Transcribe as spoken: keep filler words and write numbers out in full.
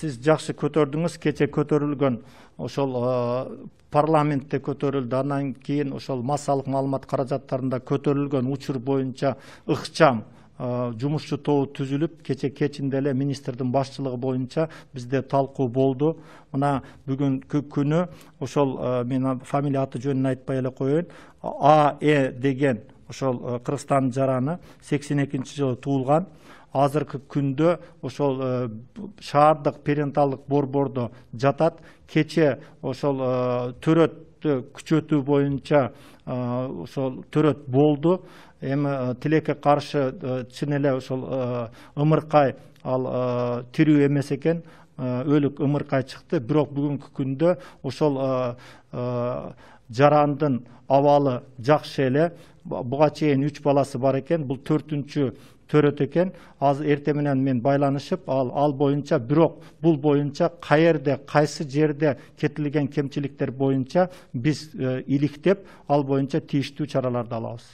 сиз жакшы көтөрдүңүз. Кече көтөрүлгөн ошол парламентте көтөрүлдү. Андан кийин ошол массалык маалымат каражаттарында көтөрүлгөн учур боюнча ыкчам жумушчу тобу түзүлүп, кече кечинде эле министрдин башчылыгы боюнча бизде талкуу болду. Мына бүгүнкү күнү ошол мен фамилия аты жөнүн айтпай эле коеюн. А Э деген ошол Кыргызстандын жараны сексен экинчи жылы туулган. Азыркы күндө ошол шаардык перинаталдык борбордо жатат. Кече ошол төрөттү күчөтүү боюнча ошол төрөт болду. Эми тилекке каршы чын эле ошол ымыркай ал тирүү эмес экен, өлүк ымыркай чыкты. Бирок бүгүнкү күндө ошол жарандын абалы жакшы эле. Буга чейин үч баласы бар экен. Бул төртүнчү төрөт экен. Азыр эртең менен мен байланышып, ал ал боюнча, бирок бул боюнча каерде, кайсы жерде кетирилген кемчиликтер боюнча биз иликтеп, ал боюнча тийиштүү чараларды алабыз.